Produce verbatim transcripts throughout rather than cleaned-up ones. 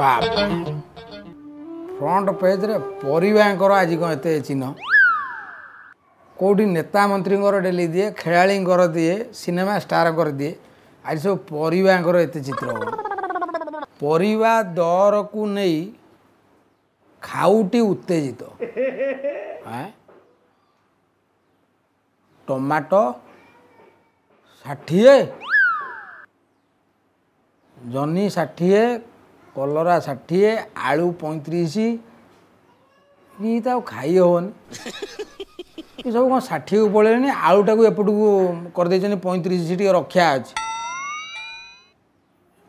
ବାବା, ଫ୍ରଣ୍ଟ ପେଜ୍ରେ ପରିବାଙ୍କର ଆଜି କ'ଣ ଏତେ ଚିହ୍ନ? କେଉଁଠି ନେତା ମନ୍ତ୍ରୀଙ୍କର ଡେଲି ଦିଏ, ଖେଳାଳିଙ୍କର ଦିଏ, ସିନେମା ଷ୍ଟାରଙ୍କର ଦିଏ, ଆଜି ସବୁ ପରିବାଙ୍କର ଏତେ ଚିତ୍ର। ପରିବା ଦରକୁ ନେଇ ଖାଉଟି ଉତ୍ତେଜିତ। ଟମାଟୋ ଷାଠିଏ, ଜହ୍ନି ଷାଠିଏ, କଲରା ଷାଠିଏ, ଆଳୁ ପଇଁତିରିଶ। ଇଏ ତ ଆଉ ଖାଇ ହେବନି। ଏ ସବୁ କ'ଣ ଷାଠିଏକୁ ପଳେଇଲେଣି? ଆଳୁଟାକୁ ଏପଟକୁ କରିଦେଇଛନ୍ତି ପଇଁତିରିଶ, ଟିକେ ରକ୍ଷା ଅଛି।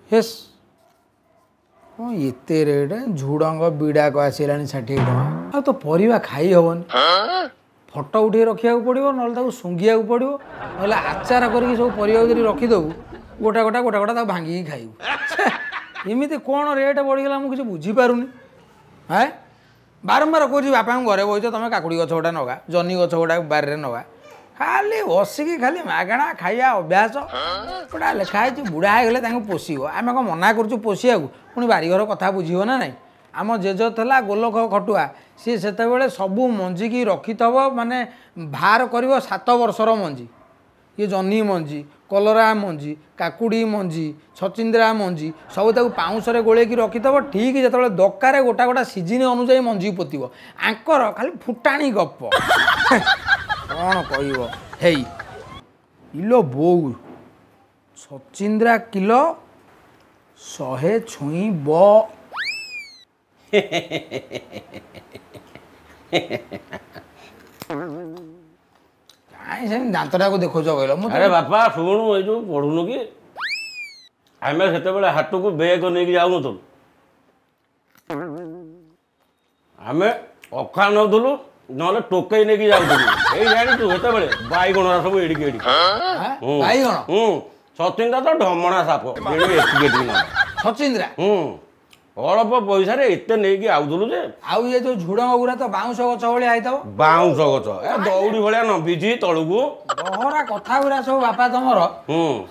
ହେସ୍, କ'ଣ ଏତେ ରେଟ୍? ଝୁଡ଼ଙ୍ଗ ବିଡ଼ାକ ଆସିଲାଣି ଷାଠିଏ ଟଙ୍କା। ଆଉ ତ ପରିବା ଖାଇ ହେବନି। ଫଟୋ ଉଠେଇ ରଖିବାକୁ ପଡ଼ିବ, ନହେଲେ ତାକୁ ଶୁଙ୍ଘିବାକୁ ପଡ଼ିବ, ନହେଲେ ଆଚାର କରିକି ସବୁ ପରିବାକୁ ଯଦି ରଖିଦେବୁ, ଗୋଟା ଗୋଟା ଗୋଟା ଗୋଟା ତାକୁ ଭାଙ୍ଗିକି ଖାଇବୁ। ଏମିତି କ'ଣ ରେଟ୍ ବଢ଼ିଗଲା, ମୁଁ କିଛି ବୁଝିପାରୁନି। ହେଁ, ବାରମ୍ବାର କହୁଛି ବାପାଙ୍କୁ, ଘରେ ବସିଛ ତୁମେ, କାକୁଡ଼ି ଗଛ ଗୋଟା ନଗା, ଜହ୍ନି ଗଛ ଗୋଟା ବାରିରେ ନଗା। ଖାଲି ବସିକି ଖାଲି ମାଗଣା ଖାଇବା ଅଭ୍ୟାସ ଗୋଟା ଲେଖା ହେଇଛି, ବୁଢ଼ା ହେଇଗଲେ ତାଙ୍କୁ ପୋଷିବ। ଆମେ କ'ଣ ମନା କରୁଛୁ ପୋଷିବାକୁ? ପୁଣି ବାରିଘର କଥା ବୁଝିବ ନା ନାହିଁ? ଆମ ଜେଜ ଥିଲା ଗୋଲକ ଖଟୁଆ, ସିଏ ସେତେବେଳେ ସବୁ ମଞ୍ଜିକି ରଖିଥିବ, ମାନେ ବାହାର କରିବ ସାତ ବର୍ଷର ମଞ୍ଜି। ଇଏ ଜହ୍ନି ମଞ୍ଜି, କଲରା ମଞ୍ଜି, କାକୁଡ଼ି ମଞ୍ଜି, ଛଚିନ୍ଦ୍ରା ମଞ୍ଜି ସବୁ ତାକୁ ପାଉଁଶରେ ଗୋଳେଇକି ରଖିଥିବ। ଠିକ୍ ଯେତେବେଳେ ଦରକାର ଗୋଟା ଗୋଟା ସିଜିନ୍ ଅନୁଯାୟୀ ମଞ୍ଜି ପୋତିବ। ଆଙ୍କର ଖାଲି ଫୁଟାଣି ଗପ, କ'ଣ କହିବ? ହେଇ ଇଲୋ ବୋଉ, ଛଚିନ୍ଦ୍ରା କିଲୋ ଶହେ ଛୁଇଁବ। କାଇଁ ସେମିତି ଦାନ୍ତଟାକୁ ଦେଖୁଛ କହିଲ? ମୁଁ ଆରେ ବାପା ଶୁଣୁ, ଏଇ ଯୋଉ ପଢୁନୁ କି, ଆମେ ସେତେବେଳେ ହାଟକୁ ବେଗ ନେଇକି ଯାଉନଥିଲୁ, ଆମେ ଅଖା ନେଉଥିଲୁ, ନହେଲେ ଟୋକେଇ ନେଇକି ଯାଉଥିଲୁ। ଏଇ ଜାଣିଛୁ, ସେତେବେଳେ ବାଇଗଣ ସବୁ ଏଡ଼ିକି ଏଡ଼ିକି। ବାଇଗଣ? ହୁଁ। ସଚିନ୍ଦ୍ରା ତ ଢମଣା ସାପ, ଏଡ଼ିକି ଏତିକି ଏତିକି। ସଚିନ୍ଦ୍ରା? ହୁଁ। ଅଳ୍ପ ପଇସାରେ ଏତେ ନେଇକି ଆଉଥିଲୁ ଯେ। ଆଉ ଇଏ ଯୋଉ ଝୁଡଙ୍ଗ ଗୁରା ତ ବାଉଁଶ ଗଛ ଭଳିଆ ହେଇଥିବ। ବାଉଁଶ ଗଛ, ଏ ଦଉଡ଼ି ଭଳିଆ ନମ୍ବିଛି ତଳକୁ। ବହରା କଥା ଗୁରା ସବୁ ବାପା ତମର।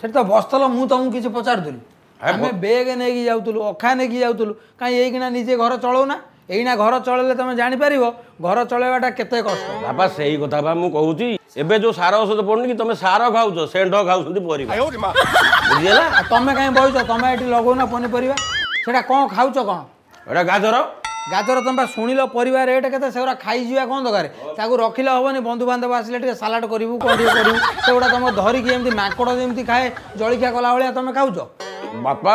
ସେଠି ତ ବସିଥିଲ, ମୁଁ ତମକୁ କିଛି ପଚାରୁଥିଲି? ଆମେ ବେଗ ନେଇକି ଯାଉଥିଲୁ, ଅଖା ନେଇକି ଯାଉଥିଲୁ, କାହିଁ ଏଇକିନା ନିଜେ ଘର ଚଳଉନା? ଏଇନା ଘର ଚଳେଇଲେ ତମେ ଜାଣିପାରିବ ଘର ଚଳେଇବାଟା କେତେ କଷ୍ଟ। ବାପା, ସେଇ କଥା ବା ମୁଁ କହୁଛି। ଏବେ ଯୋଉ ସାର ଔଷଧ ପଡୁନି କି, ତମେ ସାର ଖାଉଛ, ଷେଣ୍ଢ ଖାଉଛନ୍ତି ପରିବା, ବୁଝିହେଲା? ତମେ କାହିଁ ବହିଛ? ତମେ ଏଠି ଲଗଉନା ପନିପରିବା? ସେଟା କ'ଣ ଖାଉଛ କ'ଣ? ଏଟା ଗାଜର। ଗାଜର? ତମେ ବା ଶୁଣିଲ ପରିବା ରେଟ୍ କେତେ, ସେଗୁଡ଼ା ଖାଇଯିବା କ'ଣ ଦରକାର? ତାକୁ ରଖିଲେ ହବନି? ବନ୍ଧୁବାନ୍ଧବ ଆସିଲେ ଟିକେ ସାଲାଡ଼ କରିବୁ, କ'ଣ ଟିକେ କରିବୁ, ସେଗୁଡ଼ା ତମେ ଧରିକି ଏମିତି ମାଙ୍କଡ଼ ଯେମିତି ଖାଏ ଜଳିଖିଆ କଲା ଭଳିଆ ତମେ ଖାଉଛ। ବାପା,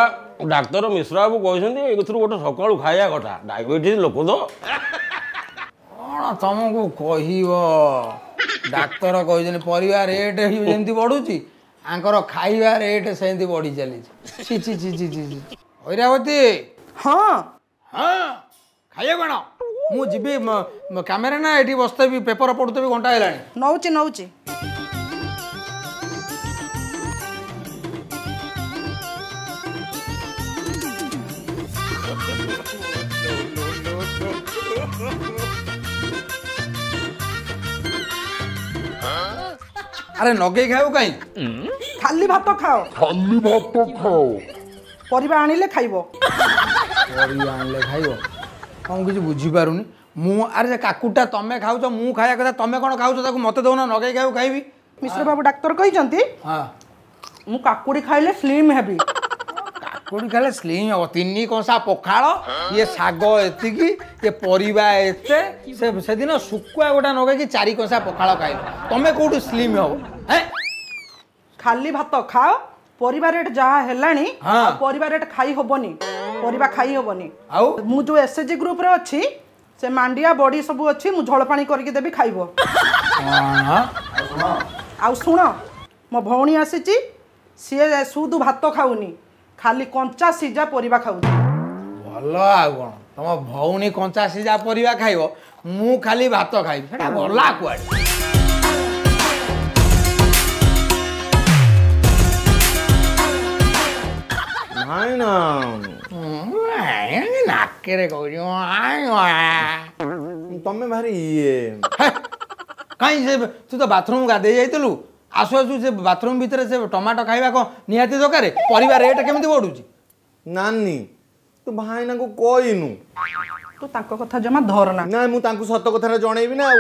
ଡାକ୍ତର ମିଶ୍ର ବାବୁ କହିଛନ୍ତି ଏଥିରୁ ଗୋଟେ ସକାଳୁ ଖାଇବା କଥା, ଡାଇବେଟିସ୍ ଲୋକ ତ। କ'ଣ ତମକୁ କହିବ ଡାକ୍ତର କହିଛନ୍ତି? ପରିବା ରେଟ୍ ଯେମିତି ବଢୁଛି, ଆଙ୍କର ଖାଇବା ରେଟ୍ ସେମିତି ବଢି ଚାଲିଛି। ଛି ଛି ଛି ଛି ଛି ଛି। ଐରାବତୀ। ହଁ। ହଁ, ଖାଇବା କ'ଣ? ମୁଁ ଯିବି କ୍ୟାମେରା ନା ଏଠି ବସିଥିବି ପେପର ପଢୁଥିବି? ଘଣ୍ଟା ହେଲାଣି। ନଉଛି ନଉଛି। ଆରେ ନଗେଇ ଖାଇବୁ କାହିଁ? ଖାଲି ଭାତ ଖାଅ, ଖାଲି ଭାତ ଖାଅ, ପରିବା ଆଣିଲେ ଖାଇବ। ପରିବା ଆଣିଲେ ଖାଇବ? କ'ଣ କିଛି ବୁଝିପାରୁନି ମୁଁ। ଆରେ ସେ କାକୁଡ଼ିଟା ତମେ ଖାଉଛ, ମୁଁ ଖାଇବା କଥା, ତମେ କ'ଣ ଖାଉଛ? ତାକୁ ମତେ ଦଉନ, ନଗେଇ ଖାଇବୁ ଖାଇବି। ମିଶ୍ର ବାବୁ ଡାକ୍ତର କହିଛନ୍ତି ମୁଁ କାକୁଡ଼ି ଖାଇଲେ ସ୍ଲିମ୍ ହେବି। କାକୁଡ଼ି ଖାଇଲେ ସ୍ଲିମ୍ ହବ? ତିନି କଂସା ପଖାଳ, ଇଏ ଶାଗ ଏତିକି, ଇଏ ପରିବା ଏତେ, ସେ ସେଦିନ ଶୁଖୁଆ ଗୋଟା ନଗେଇକି ଚାରି କଂସା ପଖାଳ ଖାଇଲ, ତମେ କୋଉଠୁ ସ୍ଲିମ୍ ହବ? ହେଁ, ଖାଲି ଭାତ ଖାଅ। ପରିବା ରେଟ୍ ଯାହା ହେଲାଣି, ପରିବା ରେଟ୍ ଖାଇ ହବନି, ପରିବା ଖାଇ ହବନି। ଆଉ ମୁଁ ଯୋଉ ଏସ୍ ଏଚ୍ ଜି ଗ୍ରୁପରେ ଅଛି, ସେ ମାଣ୍ଡିଆ ବଡି ସବୁ ଅଛି, ମୁଁ ଝୋଳ ପାଣି କରିକି ଦେବି, ଖାଇବ। ଆଉ ଶୁଣ, ମୋ ଭଉଣୀ ଆସିଛି, ସିଏ ସୁଦୁ ଭାତ ଖାଉନି, ଖାଲି କଞ୍ଚା ସିଝା ପରିବା ଖାଉଛି। ଭଲ ଆଉ କ'ଣ, ତମ ଭଉଣୀ କଞ୍ଚା ସିଝା ପରିବା ଖାଇବ, ମୁଁ ଖାଲି ଭାତ ଖାଇବି, ସେଟା ଗଲା କୁଆଡ଼େ? ନାଇଁ ନା, ନାକରେ କହୁଛି ତମେ ଭାରି ଇଏ। କାହିଁ ସେ ତୁ ତ ବାଥରୁମ୍ ଗାଧେଇ ଯାଇଥିଲୁ, ଆସୁ ଆସୁ ସେ ବାଥରୁମ୍ ଭିତରେ ସେ ଟମାଟୋ ଖାଇବା କ'ଣ ନିହାତି ଦରକାର? ପରିବା ରେଟ୍ କେମିତି ବଢୁଛି? ନାନୀ, ତୁ ଭାଇନାଙ୍କୁ କହିନୁ? ତୁ ତାଙ୍କ କଥା ଜମା ଧରନା। ନାଇଁ, ମୁଁ ତାଙ୍କୁ ସତ କଥାଟା ଜଣେଇବି ନା। ଆଉ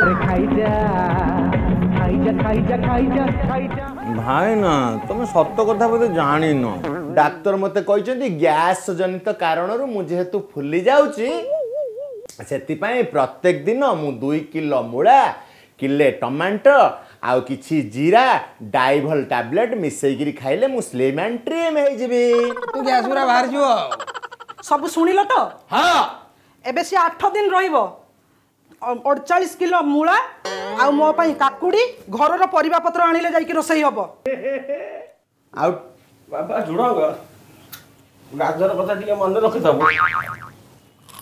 ଭାଇନା, ତମେ ସତ କଥା ବୋଧେ ଜାଣିନ। ଡାକ୍ତର ମତେ କହିଛନ୍ତି ଗ୍ୟାସ୍ ଜନିତ କାରଣରୁ ମୁଁ ଯେହେତୁ ଫୁଲି ଯାଉଛି, ସେଥିପାଇଁ ପ୍ରତ୍ୟେକ ଦିନ ମୁଁ ଦୁଇ କିଲୋ ମୂଳା, କିଲେ ଟମାଟୋ ଆଉ କିଛି ଜିରା, ଡାଇଭଲ ଟାବଲେଟ୍ ମିଶେଇକିରି ଖାଇଲେ ମୁଁ ସ୍ଲିମ୍ ଆଣ୍ଡ ଟ୍ରିମ୍ ହେଇଯିବି। ତୁ ଗ୍ୟାସ୍ ପୁରା ବାହାରିଯିବ ଆଉ। ସବୁ ଶୁଣିଲ ତ? ହଁ। ଏବେ ସିଏ ଆଠ ଦିନ ରହିବ। ଅଡ଼ଚାଳିଶ କିଲୋ ମୂଳା ଆଉ ମୋ ପାଇଁ କାକୁଡ଼ି, ଘରର ପରିବା ପତ୍ର ଆଣିଲେ ଯାଇକି ରୋଷେଇ ହବ। ଆଉ ବାବା ଝୁଡ଼ଙ୍ଗ, ଗାଜର କଥା ଟିକେ ମନେ ରଖିଥବୁ।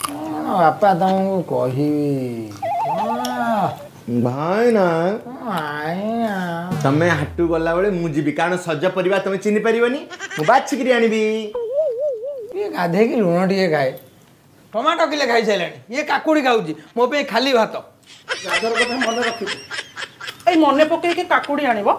କଣ ବାପା ତମକୁ କହିବି, କଣ ଭାଇନା? ଆଇନା। ତମେ ହାଟୁ ଗଲାବେଳେ ମୁଁ ଯିବି, କାରଣ ସଜ ପରିବା ତମେ ଚିହ୍ନି ପାରିବନି, ମୁଁ ବାଛିକିରି ଆଣିବି। ଇଏ ଗାଧେଇକି ଲୁଣ ଟିକେ ଖାଏ, ଟମାଟୋ କିଲେ ଖାଇସାରିଲାଣି, ଇଏ କାକୁଡ଼ି ଖାଉଛି, ମୋ ପାଇଁ ଖାଲି ଭାତ। ଗାଜର କଥା ମନେ ରଖିବୁ। ଏଇ ମନେ ପକେଇକି କାକୁଡ଼ି ଆଣିବ।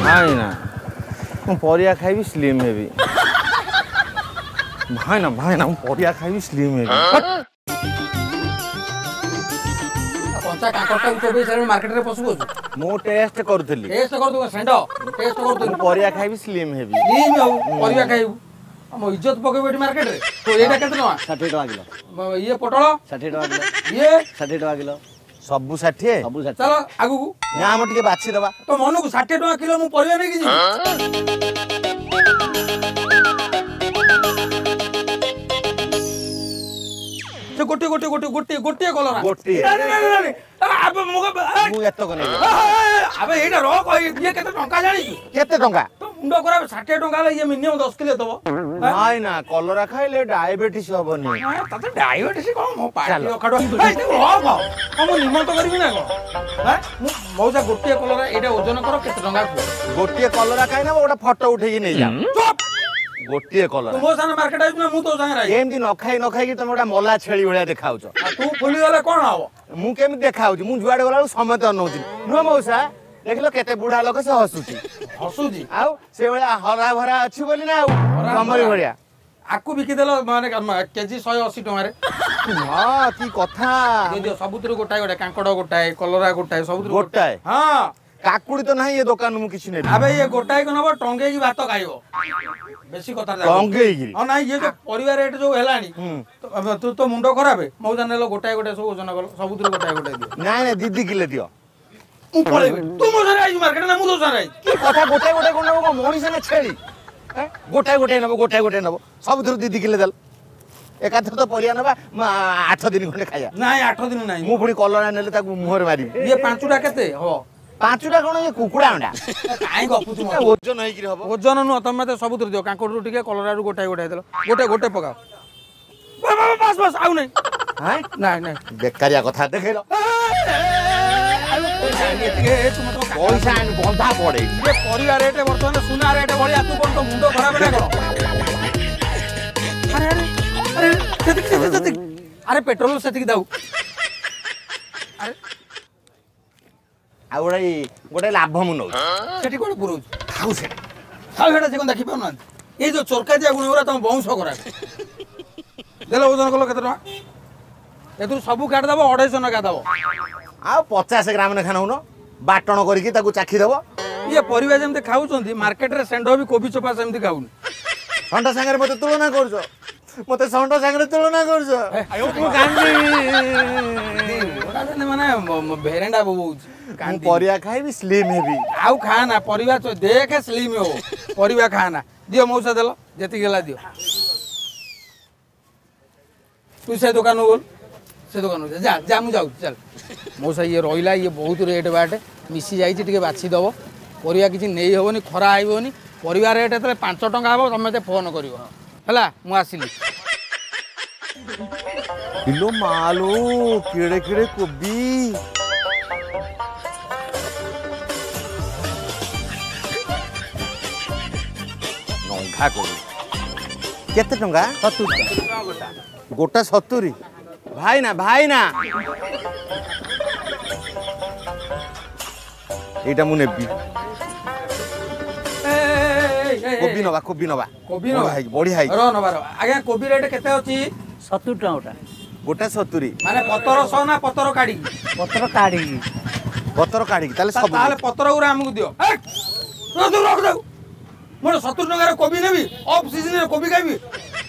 ଭାଇନା, ମୁଁ ପରିବା ଖାଇବି ସ୍ଲିମ୍ ହେବି। ଭାଇନା, ଭାଇନା, ମୁଁ ପରିବା ଖାଇବି ସ୍ଲିମ୍ ହେବି। କଞ୍ଚା କାଙ୍କଡ଼ଟାକୁ ଚୋବେଇ ସାରିଲୁଣି, ମାର୍କେଟରେ ପଶୁ ପଶୁ। ମୁଁ ଟେଷ୍ଟ କରୁଥିଲି। ଟେଷ୍ଟ କରୁଥିବୁ ଷେଣ୍ଢ, ଟେଷ୍ଟ କରୁଥିଲୁ। ମୁଁ ପରିବା ଖାଇବି ସ୍ଲିମ୍ ହେବି। ସ୍ଲିମ୍ ହବୁ, ପରିବା ଖାଇବୁ, ଆମ ଇଜ୍ଜତ ପକେଇବୁ ଏଠି ମାର୍କେଟରେ। ତ ଏଇଟା କେତେ ଟଙ୍କା? ଷାଠିଏ ଟଙ୍କା କିଲୋ। ଇଏ ପୋଟଳ? ଷାଠିଏ ଟଙ୍କା କିଲୋ। ଇଏ? ଷାଠିଏ ଟଙ୍କା କିଲୋ। ସବୁ ଷାଠିଏ? ସବୁ ଷାଠିଏ। ଚାଲ ଆଗକୁ। ନା, ଆମ ଟିକେ ବାଛି ଦବା। ତ ମନକୁ ଷାଠିଏ ଟଙ୍କା କିଲୋ ମୁଁ ପରିବା ନେଇକି ଯିବି? ସେ ଗୋଟିଏ ଗୋଟିଏ ଗୋଟିଏ ଗୋଟିଏ ଗୋଟିଏ କଲରା। ଗୋଟିଏ। ନାଇଁ, ନାଇଁ, ନାଇଁ, ନାଇଁ, ଆବେ ମୁଁ ମୁଁ ଏତକ ନେବି। ଆବେ ଏଇଟା ରଖ। ଇଏ କେତେ ଟଙ୍କା ଜାଣିଛୁ? କେତେ ଟଙ୍କା? ତୋ ମୁଣ୍ଡ ଖରାପ, ଷାଠିଏ ଟଙ୍କା ହେଲେ ଇଏ ମିନିମମ୍ ଦଶ କିଲୋ ଦବ। ନାଇଁ ନା, କଲରା ଖାଇଲେ ଡାଇବେଟିସ୍ ହବନି। ତତେ ଡାଇବେଟିସ୍ କଣ ମୋ ପାଟି ଚାଲ। ଅଖାଡୁଆ। ଏଇ, ତାକୁ ରଖ। କଣ ମୁଁ ନିମନ୍ତ କରିବି ନା କଣ? ଆଁ? ମୁଁ ମଉସା, ଗୋଟିଏ କଲରା ଏଇଟା ଓଜନ କର, କେତେ ଟଙ୍କା କୁହ। ଗୋଟିଏ କଲରା ଖାଇ ନବ, ଗୋଟେ ଫଟୋ ଉଠେଇକି ନେଇଯା। ଚୁପ୍! ଗୋଟିଏ କଲରା। ତୁ ମୋ ସାଙ୍ଗରେ ମାର୍କେଟ ଆଇଛୁ ନା ମୁଁ ତୋ ସାଙ୍ଗରେ ଆଇଛି? ଏମିତି ନ ଖାଇ ନ ଖାଇକି ତମେ ଗୋଟେ ମଲା ଛେଳି ଭଳିଆ ଦେଖାଉଛ। ଆଉ ତୁ ଫୁଲିଗଲେ କଣ ହବ? ମୁଁ କେମିତି ଦେଖାଉଛି? ମୁଁ ଯୁଆଡେ ଗଲା ବେଳକୁ ସମସ୍ତେ ଅନଉଛି। ନୁହଁ ମଉସା, ଦେଖିଲ କେତେ ବୁଢା ଲୋକ, ସେ ହସୁଛି। ହସୁଛି। ଆଉ ସେଇଭଳିଆ ହରା ଭରା ଅଛି ବୋଲି ନା, ଆଉ ହରା ତମରି ଭରା। ଭଳିଆ। ଆକୁ ବିକିଦେଲ ମାନେ କେଜି ଶହେ ଅଶୀ ଟଙ୍କାରେ। ହଁ, କି କଥା! ଦିଅ ଦିଅ, ସବୁଥିରୁ ଗୋଟାଏ ଗୋଟାଏ, କାଙ୍କଡ଼ ଗୋଟାଏ, କଲରା ଗୋଟାଏ, ସବୁଥିରୁ ଗୋଟାଏ? ହଁ। କାକୁଡି ତ ନାହିଁ, ଏ ଦୋକାନରୁ ମୁଁ କିଛି ନେବି। ଆବେ ଇଏ ଗୋଟାଏ ନବ, ଟଙ୍ଗେଇକି ଭାତ ଖାଇବ, ବେଶୀ କଥା ଜାଣିନି। ଟଙ୍ଗେଇକିରି? ହଁ। ନାଇଁ, ଇଏ ଯୋଉ ପରିବା ରେଟ୍ ଯୋଉ ହେଲାଣି, ତ- ତୁ ତୋ ମୁଣ୍ଡ ଖରାପ। ମଉସା, ନେଲ ଗୋଟାଏ ଗୋଟାଏ, ସବୁ ଓଜନ କଲ, ସବୁଥିରୁ ଗୋଟାଏ ଗୋଟାଏ ଦିଅ। ନାଇଁ ନାଇଁ, ଦି ଦି କିଲୋ ଦିଅ। ମୁଁ ପଳେଇବି। ତୁ ମୋ ସାଙ୍ଗରେ ଆଇଛୁ ମାର୍କେଟ ନା ମୁଁ ତୋ ସାଙ୍ଗରେ ଆଇଛି? କି କଥା, ଗୋଟାଏ ଗୋଟାଏ କଣ ନବ? କଣ ମଣିଷ ନା ଛେଳି? ଏଁ? ଗୋଟାଏ ଗୋଟାଏ ନବ, ଗୋଟାଏ ଗୋଟାଏ ନବ, ସବୁଥିରୁ ଦି ଦି କିଲୋ ଦେଲ। ଏକାଥରେ ତ ପରିବା ନବା, ମା, ଆଠ ଦିନ ଖଣ୍ଡେ ଖାଇବା। ନାଇଁ, ଆଠ ଦିନ ନାଇଁ। ମୁଁ ପୁଣି କଲରା ନେଲେ ତାକୁ ମୁହଁରେ ମାରିବି। ଇଏ ପାଞ୍ଚଟା କେତେ ହବ? ପାଞ୍ଚଟା କଣ, ଇଏ କୁକୁଡ଼ା ଅଣ୍ଡା। କାଇଁ ଗପୁଛୁ ମତେ? ଓଜନ ହେଇକିରି ହବ। ଓଜନ ନୁହଁ, ତମେ ମତେ ସବୁଥିରୁ ଦିଅ। କାଙ୍କଡ଼ରୁ ଟିକେ, କଲରାରୁ ଗୋଟାଏ ଗୋଟାଏ ଦେଲ, ଗୋଟେ ଗୋଟେ ପକାଅ। ବାସ୍ ବାସ୍ ବାସ୍, ଆଉ ନାଇଁ। ହାଁ? ନାଇଁ ନାଇଁ। ବେକାରିଆ କଥା ଦେଖେଇଲ। ପଇସା ଆଣି ବନ୍ଧା ପଡେ। ଇଏ ପରିବା ରେଟ୍ ବର୍ତ୍ତମାନ ସୁନା ରେଟ୍ ଭଳିଆ। ତୁ କଣ, ତୋ ମୁଣ୍ଡ ଖରାପ ନା କଣ? ଆରେ ଆରେ ଆରେ, ସେତିକି ସେତିକି ସେତିକି। ଆରେ ପେଟ୍ରୋଲ ସେତିକି ଦାଉ। ଆରେ ଆଉ ଗୋଟେ ଗୋଟେ ଲାଭ ମୁଁ ନଉଛି। ସେଠି କଣ ପୁରଉଛୁ? ଖାଉ ସେଟା। ଆଉ ସେଟା ସେ କଣ ଦେଖିପାରୁନାହାନ୍ତି? ଏଇ ଯୋଉ ଚୋରକାଦିଆ ଗୁଣ ଗୁରା ତମ ବଂଶ ଖରାପ। ଦେଲ, ଓଜନ କଲ କେତେ ଟଙ୍କା? ଏଥିରୁ ସବୁ କାଟିଦବ, ଅଢେଇଶହ ଟଙ୍କା ଦବ। ଆଉ ପଚାଶ ଗ୍ରାମ ଲେଖା ନଉନ, ବାଟଣ କରିକି ତାକୁ ଚାଖି ଦବ। ଇଏ ପରିବା ଯେମିତି ଖାଉଛନ୍ତି, ମାର୍କେଟରେ ଷେଣ୍ଢ ବି କୋବି ଚୋପା ସେମିତି ଖାଉନି। ଷଣ୍ଢ ସାଙ୍ଗରେ ମତେ ତୁଳନା କରୁଛ? ମତେ ଷଣ୍ଢ ସାଙ୍ଗରେ ତୁଳନା କରୁଛ? ମୁଁ କାନ୍ଦିବି। ମାନେ ଭେରେଣ୍ଡା ବୋବଉଛି। ମୁଁ ପରିବା ଖାଇବି ସ୍ଲିମ୍ ହେବି। ଆଉ ଖା ନା ପରିବା, ଦେଖେ ସ୍ଲିମ୍ ହବ। ପରିବା ଖା ନା। ଦିଅ ମଉସା, ଦେଲ ଯେତିକି ହେଲା ଦିଅ। ତୁ ସେ ଦୋକାନକୁ ଗଲୁ, ସେ ଦୋକାନକୁ ଯା ଯା, ମୁଁ ଯାଉଛି, ଚାଲ। ମଉସା, ଇଏ ରହିଲା, ଇଏ ବହୁତ ରେଟ୍ ବାଟ ମିଶି ଯାଇଛି, ଟିକେ ବାଛି ଦେବ। ପରିବା କିଛି ନେଇ ହେବନି, ଖରା ଆଇବନି। ପରିବା ରେଟ୍ ଯେତେବେଳେ ପାଞ୍ଚ ଟଙ୍କା ହେବ ତମେ ମୋତେ ଫୋନ୍ କରିବ, ହେଲା? ମୁଁ ଆସିଲି। ଇଲୋ ମାଲୋ, କେଡ଼େ କେଡ଼େ କୋବି! ବନ୍ଧାକୋବି କେତେ ଟଙ୍କା? ସତୁରି ଟଙ୍କା ଗୋଟା। ସତୁରି? ଭାଇନା, ଭାଇନା, ଏଇଟା ମୁଁ ନେବି। କୋବି ନବା, କୋବି ନବା। କୋବି ନବା, ବଢିଆ ହେଇଛି। ର, ନବାର ଆଜ୍ଞା। କୋବି ରେଟ୍ କେତେ ଅଛି? ସତୁରି ଟଙ୍କା ଗୋଟା। ଗୋଟା ସତୁରି? ମାନେ ପତର ସହ ନା ପତର କାଢିକି? ପତର କାଢିକି। ପତର କାଢିକି ତାହେଲେ ସବୁ। ତାହେଲେ ପତର ଗୁରା ଆମକୁ ଦିଅ। ରଖ। ମୋର ସତୁରି ଟଙ୍କାରେ କୋବି ନେବି? ଅଫ୍ ସିଜନରେ କୋବି ଖାଇବି?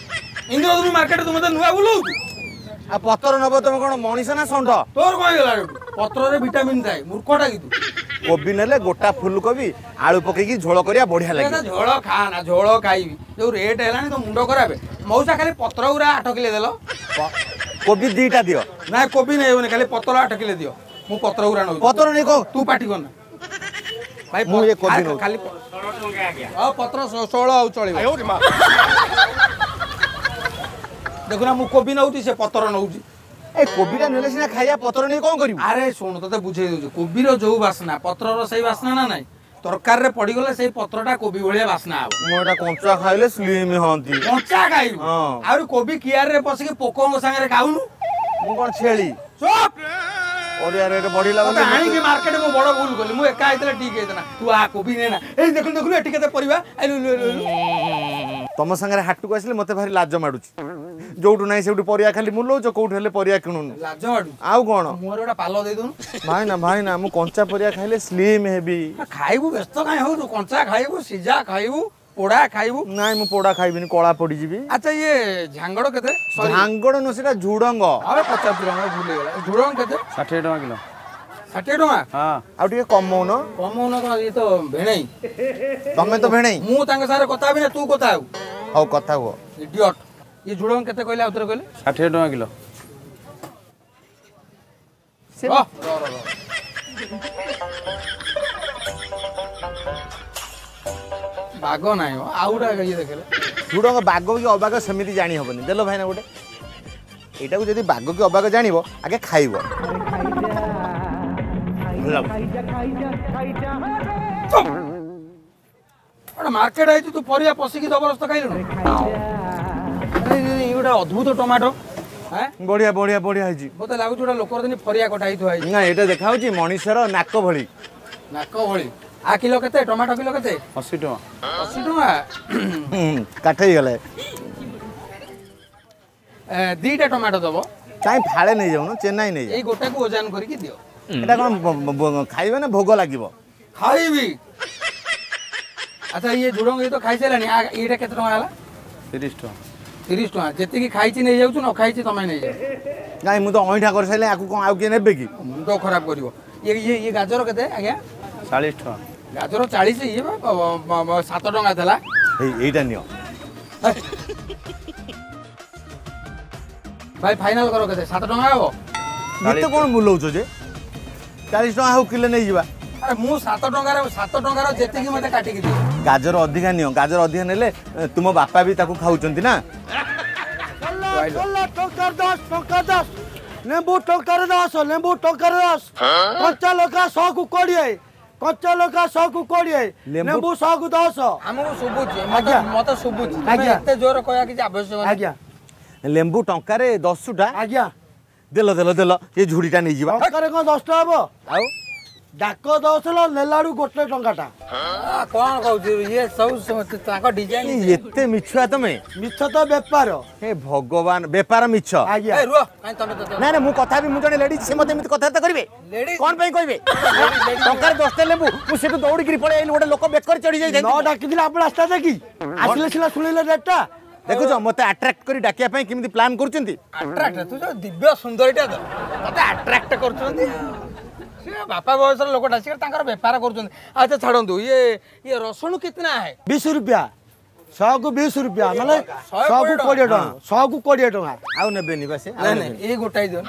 ଇନ୍ଦ୍ରଧନୁ ମାର୍କେଟ ତୁ ମତେ ନୂଆ ବୁଲଉଛୁ? ଆଉ ପତର ନବ? ତମେ କଣ ମଣିଷ ନା ଷଣ୍ଢ? ତୋର କଣ ହେଇଗଲା? ପତ୍ରରେ ଭିଟାମିନ୍ ଥାଏ, ମୂର୍ଖଟା କି ତୁ? କୋବି ନେଲେ ଗୋଟା ଫୁଲକୋବି ଆଳୁ ପକେଇକି ଝୋଳ କରିବା, ବଢିଆ ଲାଗିବ। ଝୋଳ ଖା ନା, ଝୋଳ ଖାଇବି? ଯୋଉ ରେଟ୍ ହେଲାଣି ତ ମୁଣ୍ଡ ଖରାପ। ମଉସା, ଖାଲି ପତ୍ର ଗୁରା ଆଠ କିଲୋ ଦେଲ। କୋବି ଦିଟା ଦିଅ। ନା, କୋବି ନେଇବନି, ଖାଲି ପତ୍ର ଆଠ କିଲୋ ଦିଅ। ମୁଁ ପତ୍ର ଗୁରା ନଉଛି। ପତ୍ର ନେଇ କଣ? ତୁ ପାଟି କରନା ଭାଇ। ମୁଁ ଏ କୋବି ନଉଛି। ଖାଲି ପତ୍ର ଷୋହଳ ଆଉ ଚଳିବ। ଦେଖୁନା, ମୁଁ କୋବି ନଉଛି, ସେ ପତ୍ର ନଉଛି। ଏ କୋବିଟା ନେଲେ ସିନା ଖାଇବା, ପତ୍ର ନେଇ କଣ କରିବୁ? ଆରେ ଶୁଣୁ, ତତେ ବୁଝେଇ ଦଉଛି। କୋବିର ଯୋଉ ବାସ୍ନା, ପତ୍ରର ସେଇ ବାସ୍ନା ନା ନାଇଁ? ତରକାରୀରେ ପଡିଗଲେ ସେଇ ପତ୍ରଟା କୋବି ଭଳିଆ ବାସ୍ନା ହବ। ମୁଁ ଏଟା କଞ୍ଚା ଖାଇଲେ ସ୍ଲିମ୍ ହଅନ୍ତି। କଞ୍ଚା ଖାଇବୁ? ଆହୁରି କୋବି କିଆରରେ ପଶିକି ପୋକଙ୍କ ସାଙ୍ଗରେ ଖାଉନୁ। ମୁଁ କଣ ଛେଳି? ପରିବା ରେଟ୍ ବଢିଲା ବୋଲି ଆଣିକି ମାର୍କେଟ ମୁଁ ବଡ ଭୁଲ କଲି। ମୁଁ ଏକା ହେଇଥିଲେ ଠିକ ହେଇଥିଲା। ତୁ ଆ, କୋବି ନେ ନା। ଏଇ ଦେଖୁନୁ, ଦେଖୁନୁ, ଏଠି କେତେ ପରିବା। ତମ ସାଙ୍ଗରେ ହାଟକୁ ଆସିଲେ ମତେ ଭାରି ଲାଜ ମାଡୁଛି। ଯୋଉଠୁ ନାହିଁ ସେଇଠୁ ପରିବା ଖାଲି ମୁଲଉଛ, କୋଉଠୁ ହେଲେ ପରିବା କିଣୁନୁ। ଲାଜ ମାଡୁଛି? ଆଉ କଣ? ମୋର ଗୋଟେ ପାଲ ଦେଇ ଦଉନୁ। ଭାଇନା, ଭାଇନା, ମୁଁ କଞ୍ଚା ପରିବା ଖାଇଲେ ସ୍ଲିମ୍ ହେବି। ଖାଇବୁ, ବ୍ୟସ୍ତ କାଇଁ ହଉଛୁ? କଞ୍ଚା ଖାଇବୁ, ସିଝା ଖାଇବୁ, ପୋଡା ଖାଇବୁ। ନାଇଁ, ମୁଁ ପୋଡା ଖାଇବିନି, କଳା ପଡିଯିବି। ଆଚ୍ଛା, ଇଏ ଝାଙ୍ଗଡ଼ କେତେ? ଝାଙ୍ଗଡ଼ ନୁହଁ, ସେଟା ଝୁଡଙ୍ଗ। ଆରେ ପଚାଶ ଟଙ୍କା, ଭୁଲ ହେଇଗଲା। ଝୁଡଙ୍ଗ କେତେ? ଷାଠିଏ ଟଙ୍କା କିଲୋ। ଷାଠିଏ ଟଙ୍କା? ହଁ। ଆଉ ଟିକେ କମଉନ। କମଉନ କଣ? ଇଏ ତ ଭେଣେଇ। ତମେ ତ ଭେଣେଇ। ମୁଁ ତାଙ୍କ ସାଙ୍ଗରେ କଥା ହେବି ନା ତୁ କଥା ହେବୁ? ହଉ, କଥା ହୁଅ। ଇଡିଅଟ। ଇଏ ଝୁଡଙ୍ଗ କେତେ କହିଲେ? ଆଉଥରେ କହିଲେ? ଷାଠିଏ ଟଙ୍କା କିଲୋ। ବାଗ ନାହିଁ, ଆଉ ଗୋଟେ ଇଏ ଦେଖିଲେ। ଝୁଡଙ୍ଗ ବାଗ କି ଅବାଗ ସେମିତି ଜାଣି ହବନି। ଦେଲ ଭାଇନା ଗୋଟେ। ଏଇଟାକୁ ଯଦି ବାଗ କି ଅବାଗ ଜାଣିବ, ଆଗେ ଖାଇବ। ଗୋଟେ ମାର୍କେଟ ହେଇଛି, ତୁ ପରିବା ପଶିକି ଜବରଦସ୍ତ ଖାଇଲୁଣୁ। ଗୋଟେ ଅଦ୍ଭୁତ ଟମାଟୋ। ବଢିଆ ବଢିଆ ବଢିଆ ହେଇଛି। ମତେ ଲାଗୁଛି ଗୋଟେ ଲୋକର ଦିନ ଫରିଆ କଟା ହେଇଥିବ। ହେଇଛି ନା, ଏଇଟା ଦେଖା ହଉଛି ମଣିଷର ନାକ ଭଳି। ନାକ ଭଳି। ଆ କିଲୋ କେତେ? ଟମାଟୋ କିଲୋ କେତେ? ଅଶୀ ଟଙ୍କା। ଅଶୀ ଟଙ୍କା? କାଠ ହେଇଗଲା। ଦିଟା ଟମାଟୋ ଦବ। କାଇଁ ଫାଳେ ନେଇଯାଉନ, ଚେନ୍ନାଇ ନେଇଯାଉ। ଏଇ ଗୋଟାକୁ ଓଜନ କରିକି ଦିଅ। ଏଟା କଣ ଖାଇବେ ନା ଭୋଗ ଲାଗିବ? ଖାଇବି। ଆଚ୍ଛା, ଇଏ ଝୁଡଙ୍ଗ ଇଏ ତ ଖାଇସାରିଲାଣି। ଏଇଟା କେତେ ଟଙ୍କା ହେଲା? ତିରିଶ ଟଙ୍କା। ତିରିଶ ଟଙ୍କା। ଯେତିକି ଖାଇଛି ନେଇଯାଉଛୁ, ନ ଖାଇଛି ତମେ ନେଇଯାଅ। ନାଇଁ, ମୁଁ ତ ଅଇଁଠା କରିସାରିଲେ ଆକୁ କଣ ଆଉ କିଏ ନେବେ କି? ମୁଣ୍ଡ ଖରାପ କରିବ ଇଏ। ଇଏ ଇଏ ଗାଜର କେତେ ଆଜ୍ଞା? ଚାଳିଶ ଟଙ୍କା। ଗାଜର ଚାଳିଶ? ଇଏ ସାତ ଟଙ୍କା ଥିଲା। ଏଇଟା ନିଅ ଭାଇ, ଫାଇନାଲ କର କେତେ? ସାତ ଟଙ୍କା ହବ? ଏତେ କଣ ବୁଲଉଛ ଯେ? ଚାଳିଶ ଟଙ୍କା ହଉ, କିଲୋ ନେଇଯିବା। ଆରେ ମୁଁ ସାତ ଟଙ୍କାର, ସାତ ଟଙ୍କାର ଯେତିକି ମତେ କାଟିକି ଦିଅ। ଗାଜର ଅଧିକା ନିଅ। ଗାଜର ଅଧିକା ନେଲେ ତୁମ ବାପା ବି ତାକୁ ଖାଉଛନ୍ତି ନା। ଟଙ୍କାର ଦଶ, ଟଙ୍କା ଦଶ ଲେମ୍ବୁ, ଟଙ୍କାରେ ଦଶ ଲେମ୍ବୁ, ଟଙ୍କାରେ ଦଶ। କଞ୍ଚା ଲଙ୍କା ଶହକୁ କୋଡ଼ିଏ, କଞ୍ଚା ଲଙ୍କା ଶହକୁ କୋଡ଼ିଏ, ଲେମ୍ବୁ ଶହକୁ ଦଶ। ଆମକୁ ଶୁଭୁଛି ଆଜ୍ଞା, ମତେ ଶୁଭୁଛି ଆଜ୍ଞା, ଏତେ ଜୋର କହିବା କିଛି ଆବଶ୍ୟକ ଆଜ୍ଞା। ଲେମ୍ବୁ ଟଙ୍କାରେ ଦଶଟା? ଆଜ୍ଞା। ଦେଲ ଦେଲ ଦେଲ, ଏ ଝୁଡ଼ିଟା ନେଇଯିବା। ଟଙ୍କାରେ କଣ ଦଶଟା ହବ? ଆଉ ଡାକ ଦଶ ନେଲାଡୁ ଗୋଟେ ଟଙ୍କାଟା। କଣ କହୁଛୁ? ଇଏ ସବୁ ତାଙ୍କ ଡିଜାଇନ। ଏତେ ମିଛୁଆ ତମେ? ମିଛ ତ ବେପାର। ହେ ଭଗବାନ, ବେପାର ମିଛ? ଆଜ୍ଞା। ନାଇଁ ନାଇଁ, ମୁଁ କଥା ବି, ମୁଁ ଜଣେ ଲେଡିଜ, ସେ ମତେ ଏମିତି କଥାବାର୍ତ୍ତା କରିବେ କଣ ପାଇଁ? କହିବେ ଟଙ୍କାରେ ଦଶଟା ଲେମ୍ବୁ, ମୁଁ ସେଠୁ ଦୌଡ଼ିକିରି ପଳେଇ ଆଇଲି, ଗୋଟେ ଲୋକ ବେକରେ ଚଢି ଯାଇଥାଏ। ନ ଡାକିଥିଲେ ଆପଣ ଆସିଥାନ୍ତେ କି? ଆସିଲେ ସିନା ଶୁଣିଲେ ରେଟଟା। ଦେଖୁଛ, ମତେ ଆଟ୍ରାକ୍ଟ କରି ଡାକିବା ପାଇଁ କେମିତି ପ୍ଲାନ୍ କରୁଛନ୍ତି। ଆଟ୍ରାକ୍ଟ? ତୁ ଯୋଉ ଦିବ୍ୟ ସୁନ୍ଦରୀଟା ତ ତତେ ଆଟ୍ରାକ୍ଟ କରୁଛନ୍ତି। ସେ ବାପା ବୟସର ଲୋକଟା, ସେ ତାଙ୍କର ବେପାର କରୁଛନ୍ତି। ଆଚ୍ଛା ଛାଡ଼ନ୍ତୁ, ଇଏ ଇଏ ରସୁଣ କେତେ ହେ? ବିଶ ରୁପିଆ ଶହକୁ, ବିଶ ରୁପିଆ ମାନେ ଶହକୁ କୋଡ଼ିଏ ଟଙ୍କା, ଶହକୁ କୋଡ଼ିଏ ଟଙ୍କା। ଆଉ ନେବେନି ବା ସେ? ନାଇଁ ନାଇଁ, ଏଇ ଗୋଟାଏ ଦିଅ।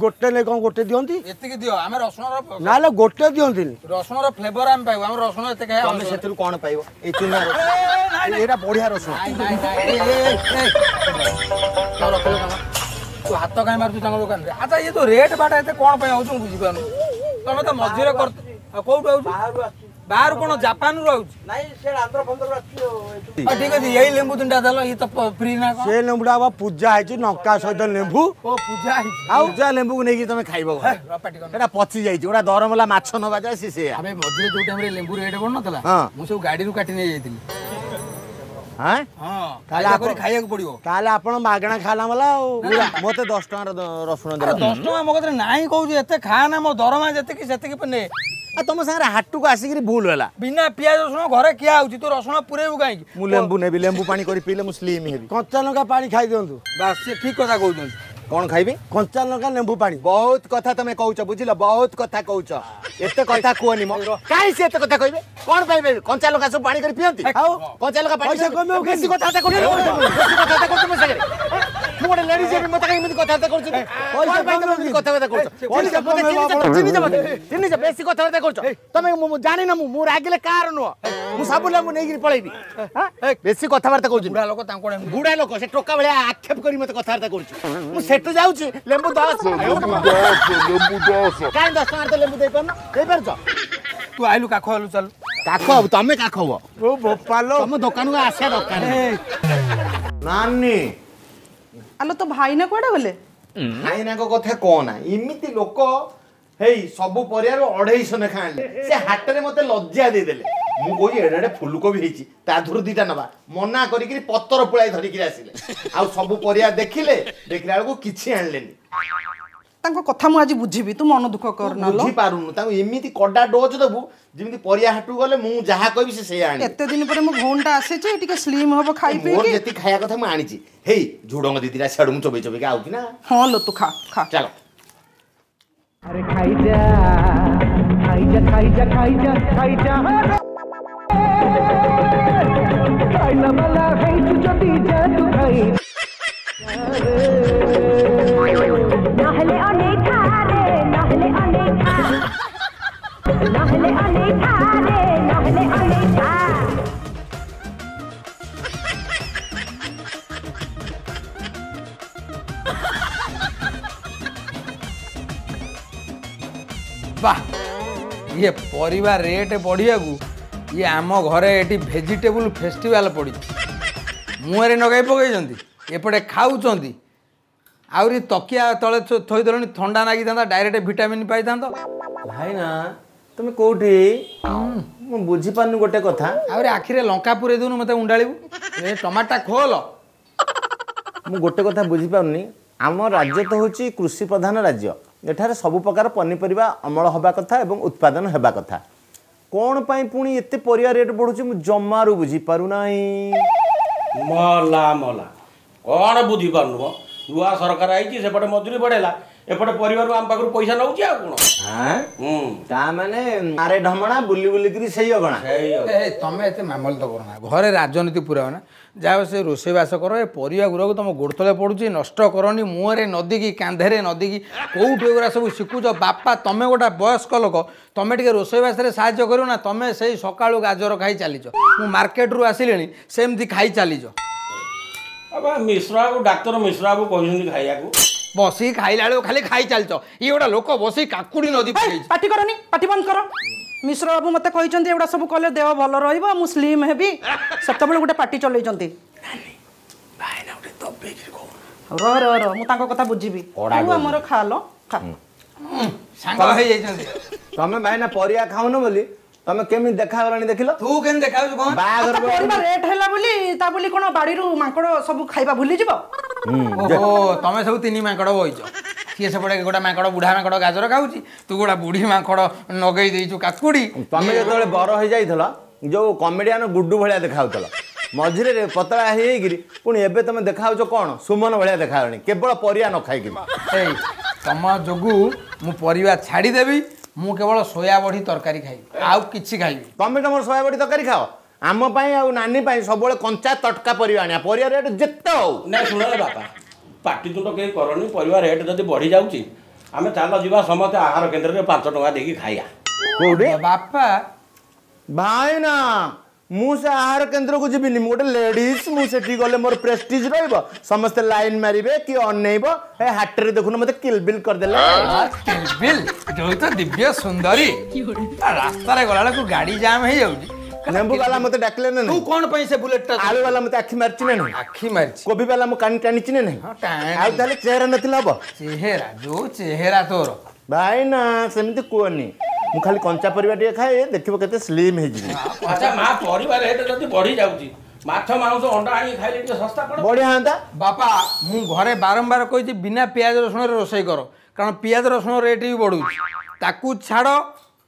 ଗୋଟେ ନେଇ କଣ? ଗୋଟେ ଦିଅନ୍ତି? ଏତିକି ଦିଅ, ଆମେ ରସୁଣର ନାଲେ ଗୋଟେ ଦିଅନ୍ତିନି। ରସୁଣର ଫ୍ଲେଭର ଆମେ ପାଇବୁ, ଆମେ ରସୁଣ ଏତେ ଖାଇବା। ତମେ ସେଥିରୁ କଣ ପାଇବ? ଏଇ ଚୁନା, ଏଇଟା ବଢିଆ ରସୁଣ। ତୁ ହାତ କାଇଁ ମାରୁଛୁ ତାଙ୍କ ଦୋକାନରେ? ଆଚ୍ଛା, ଇଏ ଯୋଉ ରେଟ୍ ବାଟ ଏତେ କଣ ପାଇଁ ହଉଛି ମୁଁ ବୁଝିପାରୁନି। ତମେ ତ ମଝିରେ କର। କୋଉଠୁ ଆଉଛୁ? ବାହାରୁ କଣ ଜାପାନରୁ ଆଉଛି? ନାଇଁ, ସେ ଆନ୍ଧ୍ର ଫନ୍ଧ୍ରରୁ ଆସୁଛି। ଠିକ ଅଛି, ଏଇ ଲେମ୍ବୁ ତିନିଟା ଦେଲ, ଇଏ ତ ଫ୍ରି ନା କଣ? ସେ ଲେମ୍ବୁଟା ବା ପୂଜା ହେଇଛି ଲଙ୍କା ସହିତ ଲେମ୍ବୁ। ଓ, ପୂଜା ହେଇଛି। ଆଉ ପୂଜା ଲେମ୍ବୁକୁ ନେଇକି ତମେ ଖାଇବ? ସେଟା ପଚି ଯାଇଛି। ଗୋଟା ଦରମଲା ମାଛ ନବା ଯାଏ ସେ ସେଇଆ। ଆବେ, ମଝିରେ ଯୋଉ ଟାଇମରେ ଲେମ୍ବୁ ରେଟ୍ ବଢୁନଥିଲା, ମୁଁ ସବୁ ଗାଡିରୁ କାଟି ନେଇ ଯାଇଥିଲି। ହଁ, ତାହେଲେ ଖାଇବାକୁ ପଡିବ। ତାହେଲେ ଆପଣ ମାଗଣା ଖାଇଲା ବାଲା। ଆଉ ମତେ ଦଶ ଟଙ୍କାର ରସୁଣ ଦେଲ। ଦଶ ଟଙ୍କା ମୋ କତିରେ ନାହିଁ କହୁଛି। ଏତେ ଖା ନା, ମୋ ଦରମା ଯେତିକି ସେତିକି ନେ। ଆଉ ତମ ସାଙ୍ଗରେ ହାଟକୁ ଆସିକିରି ଭୁଲ ହେଲା। ବିନା ପିଆଜ ରସୁଣ ଘରେ କିଆ ହଉଛି, ତୁ ରସୁଣ ପୁରେଇବୁ କାହିଁକି? ମୁଁ ଲେମ୍ବୁ ନେବି। ଲେମ୍ବୁ ପାଣି କରି ପିଇଲେ ମୁଁ ସ୍ଲିମ୍ ହେବି। କଞ୍ଚା ଲଙ୍କା ପାଣି ଖାଇ ଦିଅନ୍ତୁ। ବାସ୍, ସେ ଠିକ କଥା କହୁଛନ୍ତି। କଣ ଖାଇବି? କଞ୍ଚା ଲଙ୍କା ଲେମ୍ବୁ ପାଣି। ବହୁତ କଥା ତମେ କହୁଛ, ବୁଝିଲ? ବହୁତ କଥା କହୁଛ। ଏତେ କଥା କୁହନି ମ। କାହିଁ ସେ ଏତେ କଥା କହିବେ? କଣ ପାଇଁ କଞ୍ଚା ଲଙ୍କା ସବୁ ପାଣି କରି ପିଅନ୍ତି? ଆଉ କଞ୍ଚା ଲଙ୍କା ପାଣି। ପଇସା କମେଇବ। ବେଶୀ କଥାବାର୍ତ୍ତା କରୁଛ, ବେଶୀ କଥାବାର୍ତ୍ତା କରୁଛ ମୋ ସାଙ୍ଗରେ। ମୁଁ ଗୋଟେ ଲେଡିଜ ହେବି, ମତେ କାହିଁ ଏମିତି କଥାବାର୍ତ୍ତା କରୁଛନ୍ତି? କଣ ପାଇଁ ତମେ ଏମିତି କଥାବାର୍ତ୍ତା କରୁଛ? ଚିହ୍ନିଛ ମତେ? ଚିହ୍ନିଛ? ବେଶୀ କଥାବାର୍ତ୍ତା କରୁଛ ତମେ। ମୁଁ ଜାଣିନ, ମୁଁ ମୁଁ ରାଗିଲେ କାହାର ନୁହଁ। ମୁଁ ସବୁ ଲେମ୍ବୁ ନେଇକିରି ପଳେଇବି। ବେଶୀ କଥାବାର୍ତ୍ତା କରୁଛି। ବୁଢା ଲୋକ ତାଙ୍କୁ, ବୁଢା ଲୋକ ସେ ଟୋକା ଭଳିଆ ଆକ୍ଷେପ କରି ମତେ କଥାବାର୍ତ୍ତା କରୁଛି। ମୁଁ ସେଠୁ ଯାଉଛି। ଲେମ୍ବୁ ଦଶ, ଲେମ୍ବୁ ଦଶ। କାହିଁ ଦଶ ଟଙ୍କାରେ ତ ଲେମ୍ବୁ ଦେଇପାରୁନ? ଦେଇପାରୁଛ? ତୁ ଆଇଲୁ କାଖ ହେଲୁ, ଚାଲୁ। କାଖ ହବ, ତମେ କାଖ ହବ। ଓ ବୋପାଲ, ତମ ଦୋକାନକୁ ଆସିବା ଦରକାର। ନାନୀ ଆଲୋ, ତୋ ଭାଇନା କୁଆଡେ ଗଲେ? ଭାଇନାଙ୍କ କଥା କହନା, ଏମିତି ଲୋକ ହେଇ ସବୁ ପରିବାରୁ ଅଢେଇଶହ ଲେଖା ଆଣିଲେ। ସେ ହାଟରେ ମତେ ଲଜ୍ଜା ଦେଇଦେଲେ। ମୁଁ କହୁଛି ଏଡ଼େ ଏଡ଼େ ଫୁଲକୋବି ହେଇଛି, ତା ଦେହରୁ ଦିଟା ନବା, ମନା କରିକିରି ପତର ପୁଳାଇ ଧରିକିରି ଆସିଲେ। ଆଉ ସବୁ ପରିବା ଦେଖିଲେ, ଦେଖିଲା ବେଳକୁ କିଛି ଆଣିଲେନି। ତାଙ୍କ କଥା ମୁଁ ଆଜି ବୁଝିବି, ତୁ ମନ ଦୁଃଖ କରନା। ବୁଝିପାରୁନୁ ତାଙ୍କୁ। ଏମିତି କଡା ଡୋଜ ଦବୁ, ଯେମିତି ପରିବା ହାଟକୁ ଗଲେ ମୁଁ ଯାହା କହିବି ସେ ସେଇଆ ଆଣିବେ। ଏତେ ଦିନ ପରେ ମୋ ଭଉଣୀଟା ଆସିଛି, ଟିକେ ସ୍ଲିମ୍ ହବ ଖାଇ ମୋର ପିଇକି। ଯେତିକି ଖାଇବା କଥା ମୁଁ ଆଣିଛି। ହେଇ, ଝୁଡଙ୍ଗ ଦିଦିଟା ସିଆଡୁ ମୁଁ ଚୋବେଇ ଚୋବେଇକି ଆଉଛି ନା। ହଁ ଲୋ, ତୁ ଖା ଖା। ଚାଲ। ଆରେ ଖାଇଯା ଖାଇଯା ଖାଇଯା ଖାଇଯା ଖାଇଯା, ଖାଇଲା ବାଲା ହେଇଛୁ ଯଦି ଯା ତୁ ଖାଇ। ନହେଲେ ଅନେକ ରେ, ନହେଲେ ଅନେକ, ନହେଲେ ଅନେକ ରେ, ନହେଲେ ଅନେକ। ବାহ, ଇଏ ପରିବା ରେଟ୍ ବଢ଼ିବାକୁ ଇଏ ଆମ ଘରେ ଏଠି ଭେଜିଟେବୁଲ୍ ଫେଷ୍ଟିଭାଲ୍ ପଡ଼ିଛି। ମୁହଁରେ ନଗାଇ ପକାଇଛନ୍ତି, ଏପଟେ ଖାଉଛନ୍ତି। ଆହୁରି ତକିଆ ତଳେ ଥୋଇଦେଲଣି, ଥଣ୍ଡା ନାଗିଥାନ୍ତା, ଡାଇରେକ୍ଟ ଭିଟାମିନ୍ ପାଇଥାନ୍ତ। ଭାଇନା, ତମେ କୋଉଠି? ମୁଁ ବୁଝିପାରୁନି ଗୋଟେ କଥା। ଆହୁରି ଆଖିରେ ଲଙ୍କା ପୁରେଇ ଦଉନୁ, ମୋତେ ଉଣ୍ଡାଳିବୁ। ଏ ଟମାଟୋ ଖୋଲ। ମୁଁ ଗୋଟେ କଥା ବୁଝିପାରୁନି। ଆମ ରାଜ୍ୟ ତ ହେଉଛି କୃଷି ପ୍ରଧାନ ରାଜ୍ୟ। ଏଠାରେ ସବୁ ପ୍ରକାର ପନିପରିବା ଅମଳ ହେବା କଥା ଏବଂ ଉତ୍ପାଦନ ହେବା କଥା। କ'ଣ ପାଇଁ ପୁଣି ଏତେ ପରିବା ରେଟ୍ ବଢ଼ୁଛି, ମୁଁ ଜମାରୁ ବୁଝିପାରୁନାହିଁ। ମଲା ମଲା, କ'ଣ ବୁଝିପାରୁନୁ ମ? ନୂଆ ସରକାର ଆଇଛି, ସେପଟେ ମଜୁରୀ ବଢ଼େଇଲା, ଏପଟେ ପରିବାରରୁ ଆମ ପାଖରୁ ପଇସା ନଉଛି, ଆଉ କ'ଣ? ତା ମାନେ ଆରେ ଢମଣା ବୁଲି ବୁଲିକିରି ସେଇ ଅଗଣା। ଏ, ତମେ ଏତେ ମାମଲତ କରନା, ଘରେ ରାଜନୀତି ପୁରାଅ ନା। ଯାହା ସେ ରୋଷେଇବାସ କର। ଏ ପରିବା ଗୁଡ଼ାକୁ ତମ ଗୋଡ଼ ତଳେ ପଡ଼ୁଛି, ନଷ୍ଟ କରନି। ମୁହଁରେ ନଦିକି, କାନ୍ଧରେ ନଦିକି, କେଉଁଠୁ ଏଗୁଡ଼ା ସବୁ ଶିଖୁଛ ବାପା? ତମେ ଗୋଟେ ବୟସ୍କ ଲୋକ, ତମେ ଟିକେ ରୋଷେଇବାସରେ ସାହାଯ୍ୟ କରିବ ନା? ତମେ ସେଇ ସକାଳୁ ଗାଜର ଖାଇ ଚାଲିଛ, ମୁଁ ମାର୍କେଟରୁ ଆସିଲିଣି ସେମିତି ଖାଇ ଚାଲିଛ। ଆବା, ମିଶ୍ର ବାବୁ, ଡାକ୍ତର ମିଶ୍ର ବାବୁ କହିଛନ୍ତି ଖାଇବାକୁ। ବସିକି ଖାଇଲା ବେଳକୁ ଖାଲି ଖାଇ ଚାଲିଛ। ଇଏ ଗୋଟେ ଲୋକ ବସିକି କାକୁଡ଼ି ନଦୀ ପକେଇଛି। ପାଟି କରନି, ପାଟି ବନ୍ଦ କର। ମିଶ୍ର ବାବୁ ମତେ କହିଛନ୍ତି ଏଗୁଡ଼ା ସବୁ କଲେ ଦେହ ଭଲ ରହିବ, ମୁଁ ସ୍ଲିମ୍ ହେବି। ସେତେବେଳେ ଗୋଟେ ପାଟି ଚଲେଇଛନ୍ତି। ରହ ରହ ରହ, ମୁଁ ତାଙ୍କ କଥା ବୁଝିବି। ତୁ ଆମର ଖାଲ ଖା। ସାଙ୍ଗ ହେଇଯାଇଛନ୍ତି। ତମେ ଭାଇନା ପରିବା ଖାଉନ ବୋଲି ତମେ କେମିତି ଦେଖାଗଲାଣି ଦେଖିଲ? ତୁ କେମିତି ଦେଖାଯାଉଛୁ କଣ? ବାହାଘର ଆଚ୍ଛା, ପରିବା ରେଟ୍ ହେଲା ବୋଲି ତା ବୋଲି କଣ ବାଡ଼ିରୁ ମାଙ୍କଡ଼ ସବୁ ଖାଇବା ଭୁଲିଯିବ? ଓହୋ, ତମେ ସବୁ ତିନି ମାଙ୍କଡ଼ ବଇଛ। ସିଏ ସେପଟେ ଗୋଟେ ମାଙ୍କଡ଼, ବୁଢା ମାଙ୍କଡ଼ ଗାଜର ଖାଉଛି, ତୁ ଗୋଟେ ବୁଢୀ ମାଙ୍କଡ଼ ନଗେଇ ଦେଇଛୁ କାକୁଡ଼ି। ତମେ ଯେତେବେଳେ ବର ହେଇଯାଇଥିଲ, ଯୋଉ କମେଡିଆନ ଗୁଡୁ ଭଳିଆ ଦେଖାଉଥିଲ, ମଝିରେ ପତଳା ହେଇଯାଇକିରି, ପୁଣି ଏବେ ତମେ ଦେଖାଉଛ କ'ଣ ସୁମନ ଭଳିଆ ଦେଖାଯାଉନି, କେବଳ ପରିବା ନ ଖାଇକିରି। ଏଇ ତମ ଯୋଗୁ ମୁଁ ପରିବା ଛାଡ଼ିଦେବି। ମୁଁ କେବଳ ସୋୟା ବଢ଼ି ତରକାରୀ ଖାଇବି, ଆଉ କିଛି ଖାଇବି। ତମେ ତମର ସୋୟା ବଡ଼ି ତରକାରୀ ଖାଅ। ଆମ ପାଇଁ ଆଉ ନାନୀ ପାଇଁ ସବୁବେଳେ କଞ୍ଚା ତଟକା ପରିବା ଆଣିବା, ପରିବା ରେଟ୍ ଯେତେ ହଉ। ନାଇଁ, ଶୁଣ ବାପା, ପାଟିତୁଣ୍ଡ କେହି କରନି। ପରିବା ରେଟ୍ ଯଦି ବଢ଼ି ଯାଉଛି, ଆମେ ଚାଲ ଯିବା ସମସ୍ତେ ଆହାର କେନ୍ଦ୍ରରେ ପାଞ୍ଚ ଟଙ୍କା ଦେଇକି ଖାଇବା। କୋଉଠି ବାପା? ଭାଇନା, ମୁଁ ସେ ଆହାର କେନ୍ଦ୍ରକୁ ଯିବିନି। ମୁଁ ଗୋଟେ ଲେଡିଜ, ମୁଁ ସେଠି ଗଲେ ମୋର ପ୍ରେଷ୍ଟିଜ ରହିବ, ସମସ୍ତେ ଲାଇନ ମାରିବେ କି ଅନେଇବ। ଏ ହାଟରେ ଦେଖୁନ ମତେ କିଲବିଲ କରିଦେଲେ। କିଲବିଲ ଯୋଉ ତ ଦିବ୍ୟ ସୁନ୍ଦରୀ, ରାସ୍ତାରେ ଗଲାବେଳକୁ ଗାଡି ଜାମ୍ ହେଇଯାଉଛି। ଲେମ୍ବୁ ବାଲା ମତେ ଡାକିଲେ ନା? ତୁ କଣ ପାଇଁ ସେ ବୁଲେଟ ଟା? ଆଳୁ ବାଲା ମତେ ଆଖି ମାରିଛି ନା ନାହିଁ? ଆଖି ମାରିଛି। କୋବି ବାଲା ମୁଁ କାନି ଟାଣିଛି ନା ନାହିଁ? ଆଉ ତାହେଲେ ଚେହେରା ନଥିଲେ ହବ? ଚେହେରା ଯୋଉ ଚେହେରା ତୋର। ଭାଇ ନା ସେମିତି କୁହନି, ମୁଁ ଖାଲି କଞ୍ଚା ପରିବା ଟିକେ ଖାଏ, ଦେଖିବ କେତେ ସ୍ଲିମ୍ ହେଇଯିବି। ଆଚ୍ଛା ମା, ପରିବା ରେଟ୍ ଯଦି ବଢି ଯାଉଛି, ମାଛ ମାଂସ ଅଣ୍ଡା ଆଣିକି ଖାଇଲେ ଟିକେ ଶସ୍ତା ପଡେ, ବଢିଆ ହୁଅନ୍ତା। ବାପା, ମୁଁ ଘରେ ବାରମ୍ବାର କହିଛି ବିନା ପିଆଜ ରସୁଣରେ ରୋଷେଇ କର, କାରଣ ପିଆଜ ରସୁଣ ରେଟ୍ ବି ବଢୁଛି। ତାକୁ ଛାଡ଼,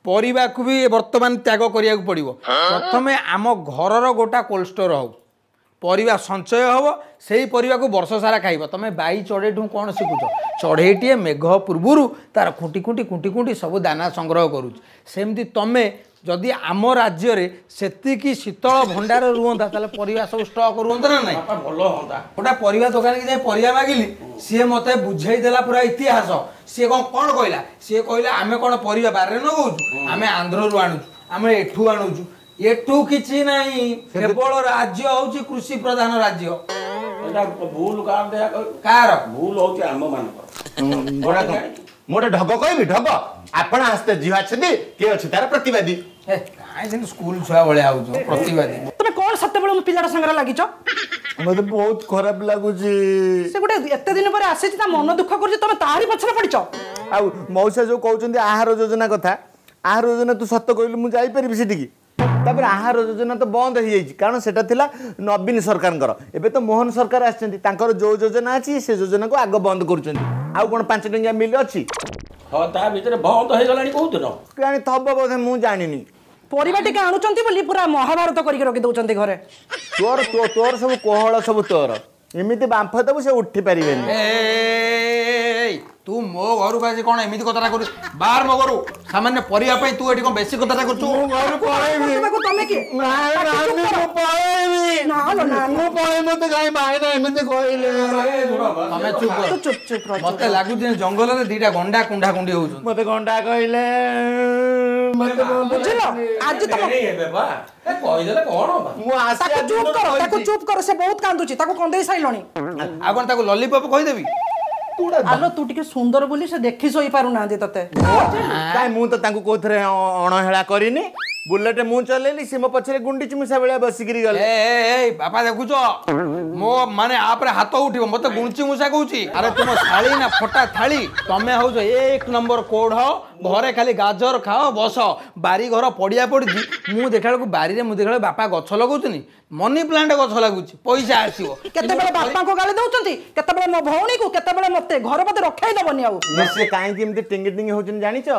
ପରିବାକୁ ବି ବର୍ତ୍ତମାନ ତ୍ୟାଗ କରିବାକୁ ପଡ଼ିବ। ପ୍ରଥମେ ଆମ ଘରର ଗୋଟା କୋଲ୍ଡ ଷ୍ଟୋର ହଉ, ପରିବା ସଞ୍ଚୟ ହେବ, ସେଇ ପରିବାକୁ ବର୍ଷ ସାରା ଖାଇବ। ତମେ ବାଇ ଚଢ଼େଇଠୁ କ'ଣ ଶିଖୁଛ? ଚଢ଼େଇଟିଏ ମେଘ ପୂର୍ବରୁ ତାର ଖୁଣ୍ଟି ଖୁଣ୍ଟି ଖୁଣ୍ଟି ଖୁଣ୍ଟି ସବୁ ଦାନା ସଂଗ୍ରହ କରୁଛି। ସେମିତି ତମେ ଯଦି ଆମ ରାଜ୍ୟରେ ସେତିକି ଶୀତଳ ଭଣ୍ଡାର ରୁହନ୍ତା, ତାହେଲେ ପରିବା ସବୁ ଷ୍ଟକ୍ ରୁହନ୍ତା ନା ନାହିଁ? ଭଲ ହୁଅନ୍ତା। ଗୋଟେ ପରିବା ଦୋକାନୀକି ଯାଇ ପରିବା ମାଗିଲି, ସିଏ ମୋତେ ବୁଝେଇ ଦେଲା ପୁରା ଇତିହାସ। ସିଏ କ'ଣ କ'ଣ କହିଲା? ସିଏ କହିଲା ଆମେ କ'ଣ ପରିବା ବାରିରେ ନଗଉଛୁ? ଆମେ ଆନ୍ଧ୍ରରୁ ଆଣୁଛୁ, ଆମେ ଏଠୁ ଆଣୁଛୁ। ଏଠୁ କିଛି ନାହିଁ, କେବଳ ରାଜ୍ୟ ହଉଛି କୃଷି ପ୍ରଧାନ ରାଜ୍ୟ। ଏଇଟା ଭୁଲ କାହାର? କାହାର ଭୁଲ ହଉଛି? ଆମ ମାନଙ୍କର। ମୁଁ ଗୋଟେ ଢଗ କହିବି, ଢଗ। ଆପଣ ଆସ୍ତେ ଝିଅ ଅଛନ୍ତି, କିଏ ଅଛି ତାର ପ୍ରତିବାଦୀ। କାହିଁ ସେମିତି ସ୍କୁଲ ଛୁଆ ଭଳିଆ ହଉଛ ପ୍ରତିବାଦୀ? ତମେ କଣ ସେତେବେଳେ ମୋ ପିଲାଟା ସାଙ୍ଗରେ ଲାଗିଛ? ମତେ ବହୁତ ଖରାପ ଲାଗୁଛି। ସେ ଗୋଟେ ଏତେ ଦିନ ପରେ ଆସିଛି, ତା ମନ ଦୁଃଖ କରୁଛି, ତମେ ତାରି ପଛରେ ପଡିଛ। ଆଉ ମଉସା ଯୋଉ କହୁଛନ୍ତି ଆହାର ଯୋଜନା କଥା, ଆହାର ଯୋଜନା ତୁ ସତ କହିଲୁ ମୁଁ ଯାଇପାରିବି ସେଠିକି? ତାପରେ ଆହାର ଯୋଜନା ତ ବନ୍ଦ ହେଇଯାଇଛି, କାରଣ ସେଟା ଥିଲା ନବୀନ ସରକାରଙ୍କର। ଏବେ ତ ମୋହନ ସରକାର ଆସିଛନ୍ତି, ତାଙ୍କର ଯୋଉ ଯୋଜନା ଅଛି ସେ ଯୋଜନାକୁ ଆଗ ବନ୍ଦ କରୁଛନ୍ତି। ଆଉ କ'ଣ ପାଞ୍ଚ ଟଙ୍କିଆ ମିଲ୍ ଅଛି? ହଁ, ତା ଭିତରେ ବନ୍ଦ ହେଇଗଲାଣି କୋଉଦିନ କେଜାଣି, ଥବ ବୋଧେ, ମୁଁ ଜାଣିନି। ପରିବା ଟିକେ ଆଣୁଛନ୍ତି ବୋଲି ପୁରା ମହାଭାରତ କରିକି ରଖି ଦଉଛନ୍ତି ଘରେ। ତୋର ତୋର ସବୁ କୋହଳ ସବୁ ତୋର, ଏମିତି ବାମ୍ଫ ଦେବୁ ସେ ଉଠି ପାରିବେନି। ତୁ ମୋ ଘରକୁ ଆସି କ'ଣ ଏମିତି କଥାଟା କରୁଛୁ? ବାହାର ମୋ ଘରୁ। ସାମାନ୍ୟ ପରିବା ପାଇଁ ତୁ ଏଠି କ'ଣ ବେଶୀ କଥାଟା କରୁଛୁ? ମୁଁ ଘରୁ ପଳେଇବି। ତମେ କିଏ? ମୁଁ ପଳେଇବି, ମୁଁ ପଳେଇବି। ମତେ କାଇଁ ଭାଇନା ଏମିତି କହିଲେ? ତମେ ଚୁପ୍। ଚୁପ୍ ଚୁପ୍। ମତେ ଲାଗୁଛି ଜଙ୍ଗଲରେ ଦିଟା ଗଣ୍ଡା କୁଣ୍ଢା କୁଣ୍ଡି ହଉଛନ୍ତି। ମତେ ଗଣ୍ଡା କହିଲେ। ବୁଝିଲ ଆଜି ତମ କହିଦେଲେ କଣ? ମୁଁ ତାକୁ ଚୁପ୍ କର, ତାକୁ ଚୁପ୍ କର, ସେ ବହୁତ କାନ୍ଦୁଛି, ତାକୁ କନ୍ଦେଇ ସାରିଲଣି। ଆଉ କଣ ତାକୁ ଲଲିପପ୍ କହିଦେବି? ଆଲୋ, ତୁ ଟିକେ ସୁନ୍ଦର ବୋଲି ସେ ଦେଖି ସହି ପାରୁନାହାନ୍ତି ତତେ। କାଇଁ, ମୁଁ ତ ତାଙ୍କୁ କୋଉଥିରେ ଅଣହେଳା କରିନି। ବୁଲେଟ ମୁଁ ଚଲେଇଲି, ସେ ମୋ ପଛରେ ଗୁଣ୍ଡିଚି ମୂଷା ଭଳିଆ ବସିକିରି ଗଲେ। ଏ ବାପା, ଦେଖୁଛ ମୋ ମାନେ ଆପରେ ହାତ ଉଠିବ, ମତେ ଗୁଣ୍ଡୁଚି ମୂଷା କହୁଛି। ଆରେ ତୁମ ଥାଳି ନା ଫଟା ଥାଳି, ତମେ ହଉଛ ଏକ ନମ୍ବର କୋଢ। ଘରେ ଖାଲି ଗାଜର ଖାଅ ବସ। ବାରି ଘର ପଡ଼ିଆ ପଡ଼ିଛି, ମୁଁ ଦେଖିଲା ବେଳକୁ ବାରିରେ ମୁଁ ଦେଖିଲା ବେଳକୁ ବାପା ଗଛ ଲଗାଉଛନ୍ତି, ମନି ପ୍ଲାଣ୍ଟ ଗଛ ଲାଗୁଛି, ପଇସା ଆସିବ। କେତେବେଳେ ବାପାଙ୍କୁ ଗାଳି ଦଉଛନ୍ତି, କେତେବେଳେ ମୋ ଭଉଣୀକୁ, କେତେବେଳେ ମତେ, ଘର ବୋଧେ ରଖେଇ ଦବନି ଆଉ। ସେ କାହିଁକି ଏମିତି ଟିଙ୍ଗି ଟିଙ୍ଗି ହଉଛନ୍ତି ଜାଣିଛ?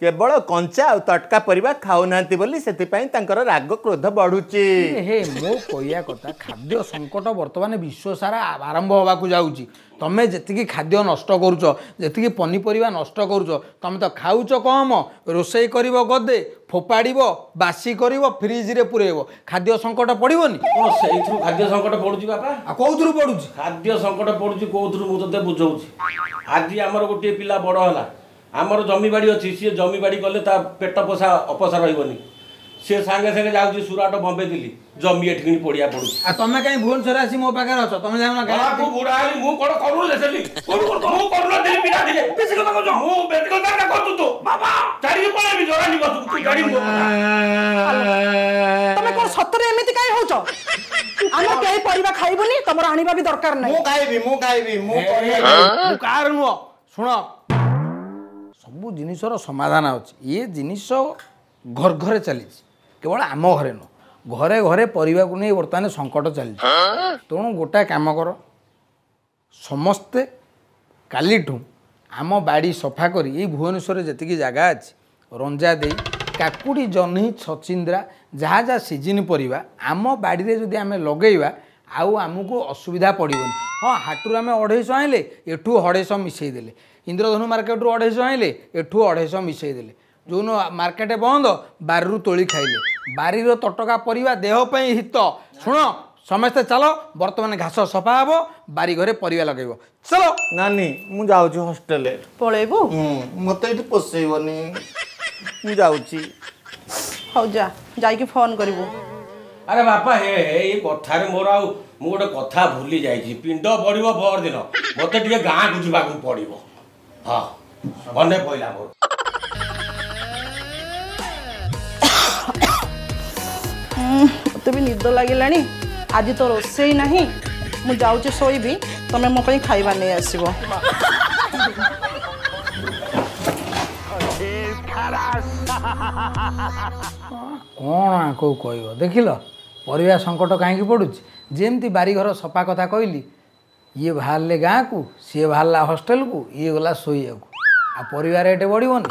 କେବଳ କଞ୍ଚା ଆଉ ତଟକା ପରିବା ଖାଉନାହାନ୍ତି ବୋଲି, ସେଥିପାଇଁ ତାଙ୍କର ରାଗ କ୍ରୋଧ ବଢୁଛି। ହେ, ମୋ କହିବା କଥା, ଖାଦ୍ୟ ସଙ୍କଟ ବର୍ତ୍ତମାନ ବିଶ୍ୱ ସାରା ଆରମ୍ଭ ହେବାକୁ ଯାଉଛି। ତମେ ଯେତିକି ଖାଦ୍ୟ ନଷ୍ଟ କରୁଛ, ଯେତିକି ପନିପରିବା ନଷ୍ଟ କରୁଛ, ତମେ ତ ଖାଉଛ କମ, ରୋଷେଇ କରିବ ଗଦେ, ଫୋପାଡ଼ିବ, ବାସି କରିବ, ଫ୍ରିଜରେ ପୁରେଇବ, ଖାଦ୍ୟ ସଙ୍କଟ ପଡ଼ିବନି? କ'ଣ ସେଇଥିରୁ ଖାଦ୍ୟ ସଙ୍କଟ ପଡୁଛି ବାପା? ଆଉ କୋଉଥିରୁ ପଡୁଛି ଖାଦ୍ୟ ସଙ୍କଟ? ପଡୁଛି କୋଉଥିରୁ ମୁଁ ତତେ ବୁଝଉଛି। ଆଜି ଆମର ଗୋଟିଏ ପିଲା ବଡ଼ ହେଲା, ଆମର ଜମିବାଡ଼ି ଅଛି, ସିଏ ଜମିବାଡ଼ି କଲେ ତା ପେଟ ପୋଷା ଅପୋଷା ରହିବନି। ସିଏ ସାଙ୍ଗେ ସାଙ୍ଗେ ଯାଉଛି ସୁରାଟ, ବମ୍ବେ, ଦିଲ୍ଲୀ, ଜମି ଏଠି କିଣି ପଡ଼ିଆ ପଡୁଛି। ଆଉ ତମେ କାହିଁ ଭୁବନେଶ୍ୱର ଆସି ମୋ ପାଖରେ ଅଛ? ତମେ ଯାଉନ। ମୁଁ ବୁଢା ହେଲି, ମୁଁ କଣ କରୁନଥିଲି? ମୁଁ କରୁନଥିଲି ପିଲା ଥିଲେ? ବେଶୀ କଥା କହୁଛ, ମୁଁ ବେଶୀ କଥା କହୁଛୁ ତୁ। ବାବା, ଛାଡ଼ିକି ପଳେଇବି ଜରାନି ବସୁ, ତୁ ଜାଣିବୁ। ତମେ କଣ ସତରେ ଏମିତି କାହିଁ ହଉଛ? ଆମେ କେହି ପରିବା ଖାଇବୁନି, ତମର ଆଣିବା ବି ଦରକାର ନାହିଁ। ମୁଁ ଖାଇବି, ମୁଁ ଖାଇବି, ମୁଁ କାହାର ନୁହଁ। ଶୁଣ, ସବୁ ଜିନିଷର ସମାଧାନ ଅଛି। ଇଏ ଜିନିଷ ଘର ଘରେ ଚାଲିଛି, କେବଳ ଆମ ଘରେ ନୁହଁ, ଘରେ ଘରେ ପରିବାକୁ ନେଇ ବର୍ତ୍ତମାନ ସଙ୍କଟ ଚାଲିଛି। ତେଣୁ ଗୋଟାଏ କାମ କର, ସମସ୍ତେ କାଲିଠୁ ଆମ ବାଡ଼ି ସଫା କରି ଏଇ ଭୁବନେଶ୍ୱରରେ ଯେତିକି ଜାଗା ଅଛି ରଞ୍ଜା ଦେଇ କାକୁଡ଼ି, ଜହ୍ନି, ଛଚିନ୍ଦ୍ରା, ଯାହା ଯାହା ସିଜିନ୍ ପରିବା ଆମ ବାଡ଼ିରେ ଯଦି ଆମେ ଲଗେଇବା, ଆଉ ଆମକୁ ଅସୁବିଧା ପଡ଼ିବନି। ହଁ, ହାଟରୁ ଆମେ ଅଢ଼େଇଶହ ଆଣିଲେ, ଏଠୁ ଅଢ଼େଇଶହ ମିଶାଇ ଦେଲେ। ଇନ୍ଦ୍ରଧନୁ ମାର୍କେଟରୁ ଅଢ଼େଇଶହ ଆଣିଲେ, ଏଠୁ ଅଢ଼େଇଶହ ମିଶାଇ ଦେଲେ। ଯେଉଁଦିନ ମାର୍କେଟ ବନ୍ଦ, ବାରିରୁ ତୋଳି ଖାଇଲେ। ବାରିର ତଟକା ପରିବା ଦେହ ପାଇଁ ହିତ। ଶୁଣ, ସମସ୍ତେ ଚାଲ, ବର୍ତ୍ତମାନ ଘାସ ସଫା ହେବ, ବାରି ଘରେ ପରିବା ଲଗେଇବ, ଚାଲ। ନାନୀ, ମୁଁ ଯାଉଛି ହଷ୍ଟେଲ। ପଳେଇବୁ? ମତେ ଏଇଠି ପୋଷେଇବନି, ମୁଁ ଯାଉଛି। ହଉ ଯା, ଯାଇକି ଫୋନ କରିବୁ। ଆରେ ବାପା, ହେ ହେ, ଏଇ କଥାରେ ମୋର ଆଉ ମୁଁ ଗୋଟେ କଥା ଭୁଲି ଯାଇଛି। ପିଣ୍ଡ ପଡ଼ିବ ପରଦିନ, ମୋତେ ଟିକେ ଗାଁକୁ ଯିବାକୁ ପଡ଼ିବ। ହଁ, ମନେ ପଇଲା ମୋର। ମୋତେ ବି ନିଦ ଲାଗିଲାଣି। ଆଜି ତ ରୋଷେଇ ନାହିଁ, ମୁଁ ଯାଉଛି ଶୋଇବି। ତମେ ମୋ ପାଇଁ ଖାଇବା ନେଇ ଆସିବ। କ'ଣ ଆଙ୍କୁ କହିବ? ଦେଖିଲ ପରିବା ସଙ୍କଟ କାହିଁକି ପଡ଼ୁଛି? ଯେମିତି ବାରିଘର ସଫା କଥା କହିଲି, ଇଏ ବାହାରିଲେ ଗାଁକୁ, ସିଏ ବାହାରିଲା ହଷ୍ଟେଲକୁ, ଇଏ ଗଲା ଶୋଇବାକୁ, ଆଉ ପରିବା ରେଟ୍ ବଢ଼ିବନି?